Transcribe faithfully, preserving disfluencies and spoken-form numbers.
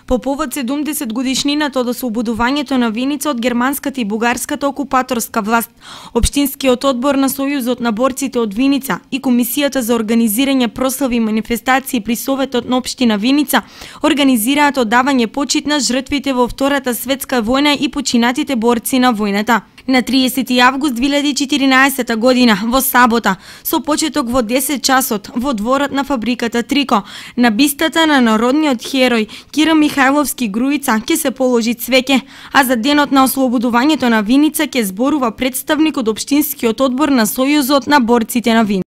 По повод седумдесет годишнината од ослободувањето на Виница од германската и бугарската окупаторска власт, Општинскиот одбор на Сојузот на борците од Виница и Комисијата за организирање прослави и манифестации при Советот на општина Виница организираат одавање почит на жртвите во Втората светска војна и починатите борци на војната. На триесети август две илјади и четиринаесета година, во сабота, со почеток во десет часот, во дворот на фабриката Трико, на бистата на народниот херој Кира Михајловски Груица ќе се положи цвеќе, а за денот на ослободувањето на Виница ќе зборува представник од Општинскиот одбор на Сојузот на борците на Виница.